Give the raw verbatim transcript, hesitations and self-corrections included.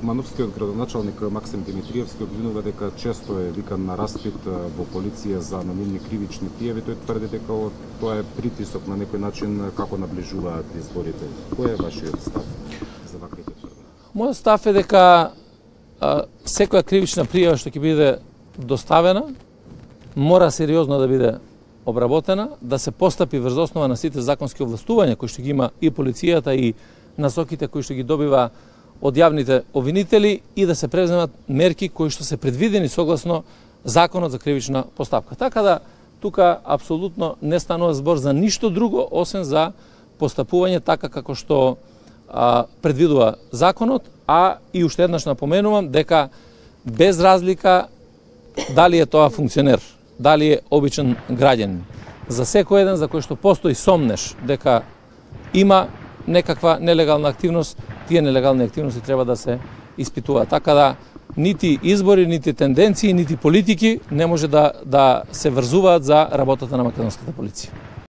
Мановскиот градоначалник Максим Димитриевски обвинува дека често е викан на распит во полиција за анонимни кривични пријави. Тој тврди дека тоа е притисок на некој начин како наближуваат изборите. Кој е вашиот став за ваквите тврдења? Мојот став е дека а, секоја кривична пријава што ќе биде доставена мора сериозно да биде обработена, да се постапи врз основа на сите законски овластувања кои што ги има и полицијата и насоките кои што ги добива од јавните обвинители и да се преземат мерки кои што се предвидени согласно Законот за кривична постапка. Така да тука апсолутно не станува збор за ништо друго освен за постапување така како што а, предвидува законот, а и уште еднаш напоменувам дека без разлика дали е тоа функционер, дали е обичен граѓанин, за секој еден за кој што постои сомнеш дека има некаква нелегална активност, тие нелегални активности треба да се испитуваат. Така да нити избори, нити тенденции, нити политики не може да, да се врзуваат за работата на македонската полиција.